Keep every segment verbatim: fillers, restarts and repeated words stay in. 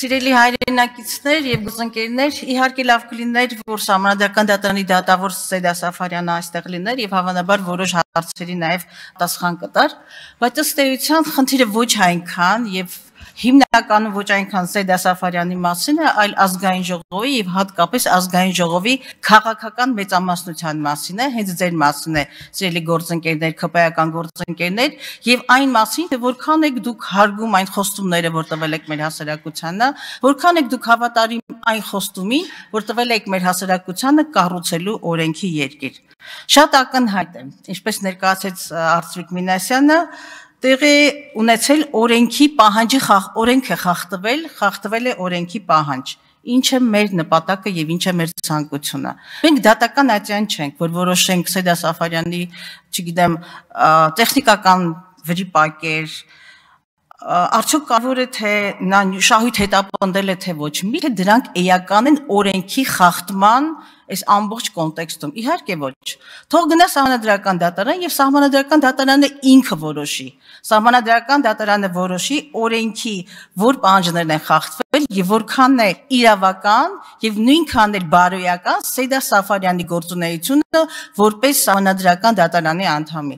Սիրելի հայրենակիցներ եւ գործընկերներ, իհարկե լավ կլիներ, որ Սահմանադրական դատարանի դատավոր Սեյդա Սաֆարյանը այստեղ լիներ եւ հավանաբար որոշ հարցերի նաեւ պատասխան կտար, բայց ըստ էության խնդիրը ոչ այնքան եւ հիմնականում ոչ այնքան Սեյդա Սաֆարյանի մասին է, այլ ազգային ժողովի եւ հատկապես ազգային ժողովի քաղաքական մեծամասնության մասին է, հենց ձեր մասին է, սիրելի գործընկերներ, ՔՊ-ական գործընկերներ, եւ այն մասին, թե որքան եք դուք հարգում այն խոստումները, որ տվել եք մեր հասարակությանը, որքան եք դուք հավատարիմ այն խոստումին, որ տվել եք մեր հասարակությանը կառուցելու օրենքի երկիր։ Շատ ակնհայտ է, ինչպես ներկայացրեց Արծվիկ Մինասյանը, տեղի ունեցել օրենքի պահանջի օրենքը խախտվել, խախտվել է օրենքի պահանջ, ինչ է մեր նպատակը եւ ինչ է մեր ցանկությունը։ Մենք դատական այցյան չենք, որ որոշենք Սեյդա Սաֆարյանի, չգիտեմ, տեխնիկական վրիպակեր, արդյոք կարող է թե նա շահույթ հետապնդել է թե ոչ, մի թե դրանք էական են օրենքի խախտման այս ամբողջ կոնտեքստում, իհարկե ոչ։ Թող գնա Սահմանադրական դատարան եւ Սահմանադրական դատարանը ինքը որոշի։ Սահմանադրական դատարանը որոշի օրենքի որ պահանջներն են խախտվել եւ որքանն է իրավական եւ նույնքան էլ բարոյական Սեյդա Սաֆարյանի գործունեությունը որպես Սահմանադրական դատարանի անդամի։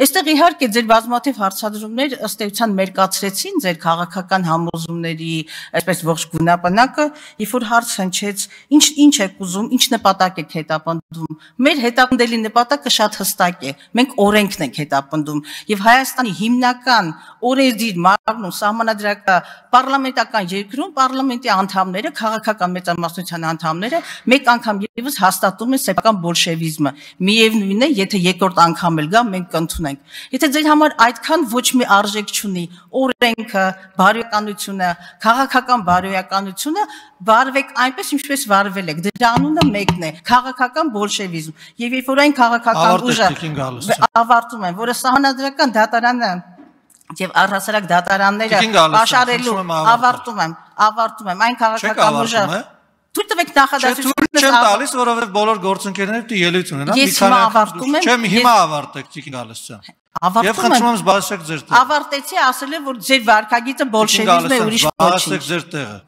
Այստեղ իհարկե ձեր բազմաթիվ հարցադրումներ ըստ էության մերկացրեցին ձեր քաղաքական համոզումների, այսպես ողջ գունապնակը, երբ որ հարց հնչեց, ինչ ինչ եք ուզում, ինչ նպատակ եք հետապնդում։ Մեր հետապնդելի նպատակը շատ հստակ է։ Մենք օրենքն ենք հետապնդում եւ Հայաստանի հիմնական օրենսդիր մարմնում Սահմանադրական պարլամենտական երկրում պարլամենտի անդամները, քաղաքական մեծամասնության անդամները մեկ անգամ եւս հաստատում են սեփական բոլշևիզմը։ Միևնույնն է, եթե երկրորդ անգամ էլ գա, մենք կընդունենք։ Եթե ձեր համար այդքան ոչ մի արժեք չունի օրենքը, բարոյականությունը, քաղաքական բարոյականությունը, վարվեք այնպես, ինչպես վարվել եք։ Դրա անունը մեկն է՝ քաղաքական բոլշևիզմ։ Եվ երբ որ այն քաղաքական ուժը ավարտում են, որը Սահմանադրական դատարանը եւ առհասարակ դատարանները պաշարելու ավարտում եմ, ավարտում եմ, այն քաղաքական ուժը թույլ տվեք նախադասությունս չեմ տալիս, որովհետեւ բոլոր գործընկերները պիտի ելույթ ունենան։ Ես հիմա ավարտում եմ։ Չեմ հիմա ավարտեք, Տիկին Գալստյան։ Ավարտում եմ։ Եվ խնդրում եմ զբաղեցեք ձեր տեղը։ Ավարտեցի, ասել եմ, որ ձեր վարքագիծը բոլշևիզմ է, ուրիշ ոչինչ։ Զբաղեցեք ձեր տեղը։